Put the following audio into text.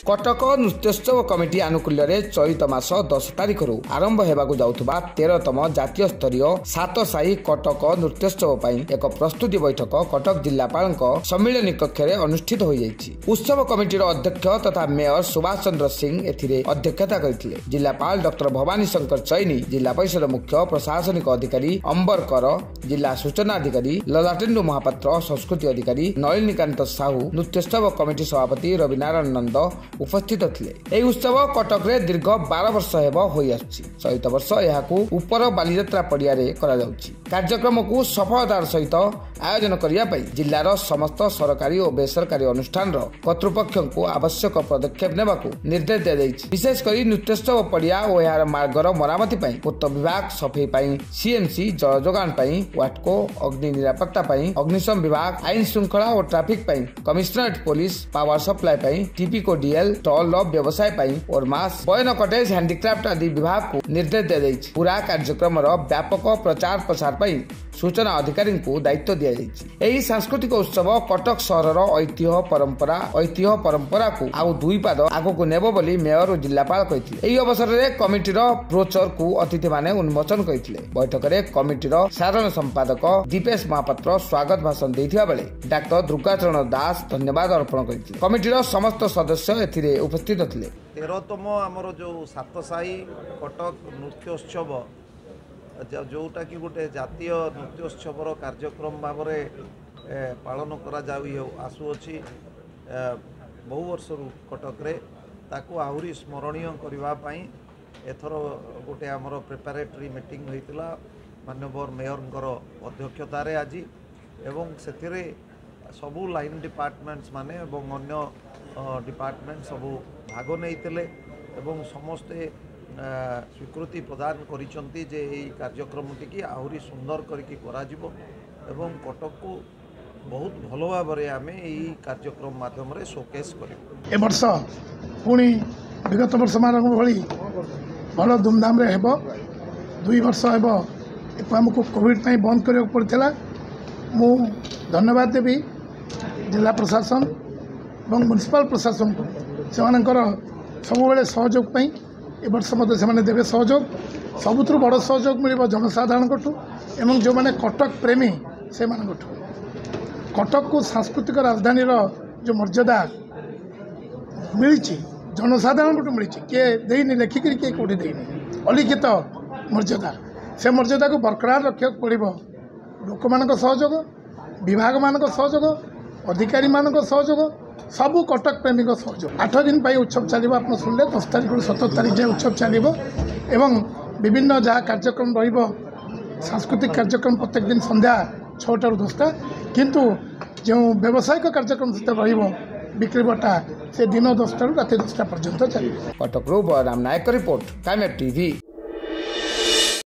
Cuttack ନୃତ୍ୟୋତ୍ସବ committee ଆନୁକୂଲ୍ୟରେ ଚଳିତ ମାସ 10 ତାରିଖରୁ ଆରମ୍ଭ ହେବାକୁ ଯାଉଥିବା 13ତମ ଜାତୀୟ ସ୍ତରୀୟ ସାତସାହି କଟକ ନୃତ୍ୟୋତ୍ସବ ପାଇଁ ଏକ ପ୍ରସ୍ତୁତି ବୈଠକ କଟକ ଜିଲ୍ଲାପାଳଙ୍କ ସମ୍ମିଳନୀ କକ୍ଷରେ ଅନୁଷ୍ଠିତ ହୋଇଯାଇଛି। ଉତ୍ସବ କମିଟିର ଅଧ୍ୟକ୍ଷ ତଥା ମେୟର ସୁଭାଷ ଚନ୍ଦ୍ର ସିଂ ଏଥିରେ ଅଧ୍ୟକ୍ଷତା କରିଥିଲେ। ଜିଲ୍ଲାପାଳ ଡକ୍ଟର ଭବାନୀ ଶଙ୍କର ଚୈନି, ଜିଲ୍ଲା ପରିଷଦ ମୁଖ୍ୟ ପ୍ରଶାସନିକ ଅଧିକାରୀ ଅମ୍ବର କର, ଜିଲ୍ଲା ସୂଚନା ଅଧିକାରୀ ଲଲାଟେନ୍ଦୁ ମହାପାତ୍ର, ସଂସ୍କୃତି ଅଧିକାରୀ ନଳିନୀକାନ୍ତ ସାହୁ, ନୃତ୍ୟୋତ୍ସବ କମିଟି ସଭାପତି ରବିନାରାୟଣ ନନ୍ଦ ଉପସ୍ଥିତ ଥିଲେ। ଏହି ଉତ୍ସବ କଟକରେ ଦୀର୍ଘ 12 ବର୍ଷ ହେବ ହୋଇଆସୁଛି। ଚଳିତ ବର୍ଷ ଏହାକୁ ଉପର ବାଲିଯାତ୍ରା ପଡ଼ିଆରେ କରାଯାଉଛି। କାର୍ଯ୍ୟକ୍ରମକୁ ସଫଳତାର ସହିତ ଆୟୋଜନ କରିବା ପାଇଁ ଜିଲ୍ଲାର ସମସ୍ତ ସରକାରୀ ଓ ବେସରକାରୀ ଅନୁଷ୍ଠାନର କର୍ତ୍ତୃପକ୍ଷଙ୍କୁ ଆବଶ୍ୟକ ପଦକ୍ଷେପ ନେବାକୁ ନିର୍ଦ୍ଦେଶ ଦିଆଯାଇଛି। ବିଶେଷ କରି ନୃତ୍ୟୋତ୍ସବ ପଡ଼ିଆ ଓ ଏହାର ମାର୍ଗର ମରାମତି ପାଇଁ ପୂର୍ତ୍ତ ବିଭାଗ, ସଫେଇ ପାଇଁ ସିଏମସି, ଜଳ ଯୋଗାଣ ପାଇଁ ୱାଟକୋ, ଅଗ୍ନି ନିରାପତ୍ତା ପାଇଁ ଅଗ୍ନିଶମ ବିଭାଗ, ଆଇନ ଶୃଙ୍ଖଳା ଓ ଟ୍ରାଫିକ ପାଇଁ କମିଶନରେଟ ପୋଲିସ, ପାୱାର ସପ୍ଲାଏ ପାଇଁ ଟିପିକୋଡିଏଲ, ଷ୍ଟଲର ବ୍ୟବସାୟ ପାଇଁ ଓରମାସ, ବୟନ କଟେଜ, ହ୍ୟାଣ୍ଡିକ୍ରାଫ୍ଟ ଆଦି ବିଭାଗକୁ ନିର୍ଦ୍ଦେଶ ଦିଆଯାଇଛି। ପୁରା କାର୍ଯ୍ୟକ୍ରମର ବ୍ୟାପକ ପ୍ରଚାର ପ୍ରସାର ପାଇଁ ସୂଚନା ଅଧିକାରୀଙ୍କୁ ଦାୟିତ୍ୱ ଦିଆଯାଇଛି। ଏହି ସାଂସ୍କୃତିକ ଉତ୍ସବ କଟକ ସହରର ଐତିହ୍ୟ ପରମ୍ପରାକୁ ଆଉ ଦୁଇ ପାଦ ଆଗକୁ ନେବ ବୋଲି ମେୟର ଓ ଜିଲ୍ଲାପାଳ କହିଥିଲେ। ଏହି ଅବସରରେ କମିଟିର ବ୍ରୋଚରକୁ ଅତିଥିମାନେ ଉନ୍ମୋଚନ କରିଥିଲେ। ବୈଠକରେ କମିଟିର ସାଧାରଣ ସମ୍ପାଦକ ଦୀପେଶ ମହାପାତ୍ର ସ୍ୱାଗତ ଭାଷଣ ଦେଇଥିବା ବେଳେ ଡାକ୍ତର ଦୁର୍ଗାଚରଣ ଦାସ ଧନ୍ୟବାଦ ଅର୍ପଣ କରିଥିଲେ। କମିଟିର ସମସ୍ତ ସଦସ୍ୟ ଏଥିରେ ଉପସ୍ଥିତ ଥିଲେ। 13ତମ ଆମର ଯେଉଁ ସାତସାହି କଟକ ନୃତ୍ୟୋତ୍ସବ, ଯେଉଁଟାକି ଗୋଟେ ଜାତୀୟ ନୃତ୍ୟୋତ୍ସବର କାର୍ଯ୍ୟକ୍ରମ ଭାବରେ ପାଳନ କରାଯାଇ ଆସୁଅଛି ବହୁ ବର୍ଷରୁ କଟକରେ, ତାକୁ ଆହୁରି ସ୍ମରଣୀୟ କରିବା ପାଇଁ ଏଥର ଗୋଟେ ଆମର ପ୍ରିପାରେଟରୀ ମିଟିଂ ହୋଇଥିଲା ମାନ୍ୟବର ମେୟରଙ୍କର ଅଧ୍ୟକ୍ଷତାରେ ଆଜି, ଏବଂ ସେଥିରେ ସବୁ ଲାଇନ୍ ଡିପାର୍ଟମେଣ୍ଟସ୍ ମାନେ ଏବଂ ଅନ୍ୟ ଡିପାର୍ଟମେଣ୍ଟ ସବୁ ଭାଗ ନେଇଥିଲେ ଏବଂ ସମସ୍ତେ ସ୍ୱୀକୃତି ପ୍ରଦାନ କରିଛନ୍ତି ଯେ ଏହି କାର୍ଯ୍ୟକ୍ରମଟିକି ଆହୁରି ସୁନ୍ଦର କରିକି କରାଯିବ ଏବଂ କଟକକୁ ବହୁତ ଭଲ ଭାବରେ ଆମେ ଏହି କାର୍ଯ୍ୟକ୍ରମ ମାଧ୍ୟମରେ ଶୋକେସ୍ କରିବୁ। ଏ ବର୍ଷ ପୁଣି ବିଗତ ବର୍ଷମାନଙ୍କ ଭଳି ଭଲ ଧୁମଧାମରେ ହେବ। 2 ବର୍ଷ ହେବ ଆମକୁ କୋଭିଡ଼ ପାଇଁ ବନ୍ଦ କରିବାକୁ ପଡ଼ିଥିଲା। ମୁଁ ଧନ୍ୟବାଦ ଦେବି ଜିଲ୍ଲା ପ୍ରଶାସନ ଏବଂ ମ୍ୟୁନିସିପାଲ ପ୍ରଶାସନକୁ, ସେମାନଙ୍କର ସବୁବେଳେ ସହଯୋଗ ପାଇଁ। ଏ ବର୍ଷ ମଧ୍ୟ ସେମାନେ ଦେବେ ସହଯୋଗ। ସବୁଥିରୁ ବଡ଼ ସହଯୋଗ ମିଳିବ ଜନସାଧାରଣଙ୍କଠୁ ଏବଂ ଯେଉଁମାନେ କଟକ ପ୍ରେମୀ ସେମାନଙ୍କଠୁ। କଟକକୁ ସାଂସ୍କୃତିକ ରାଜଧାନୀର ଯେଉଁ ମର୍ଯ୍ୟାଦା ମିଳିଛି ଜନସାଧାରଣଙ୍କଠୁ ମିଳିଛି, କିଏ ଦେଇନି ଲେଖିକିରି, କିଏ କେଉଁଠି ଦେଇନି, ଅଲିଖିତ ମର୍ଯ୍ୟାଦା। ସେ ମର୍ଯ୍ୟାଦାକୁ ବରକରାର ରଖିବାକୁ ପଡ଼ିବ ଲୋକମାନଙ୍କ ସହଯୋଗ, ବିଭାଗମାନଙ୍କ ସହଯୋଗ, ଅଧିକାରୀମାନଙ୍କ ସହଯୋଗ, ସବୁ କଟକ ପ୍ରେମୀଙ୍କ ସହଯୋଗ। 8 ଦିନ ପାଇଁ ଉତ୍ସବ ଚାଲିବ। ଆପଣ ଶୁଣିଲେ 10 ତାରିଖରୁ 17 ତାରିଖ ଯାଏଁ ଉତ୍ସବ ଚାଲିବ ଏବଂ ବିଭିନ୍ନ ଯାହା କାର୍ଯ୍ୟକ୍ରମ ରହିବ, ସାଂସ୍କୃତିକ କାର୍ଯ୍ୟକ୍ରମ ପ୍ରତ୍ୟେକ ଦିନ ସନ୍ଧ୍ୟା 6ଟାରୁ 10ଟା, କିନ୍ତୁ ଯେଉଁ ବ୍ୟବସାୟିକ କାର୍ଯ୍ୟକ୍ରମ ସେତେ ରହିବ ବିକ୍ରିବଟା, ସେ ଦିନ 10ଟାରୁ ରାତି 10ଟା ପର୍ଯ୍ୟନ୍ତ ଚାଲିବ। କଟକରୁ ବଳରାମ ନାୟକ ରିପୋର୍ଟ, କାମ୍ୟାବ ଟିଭି।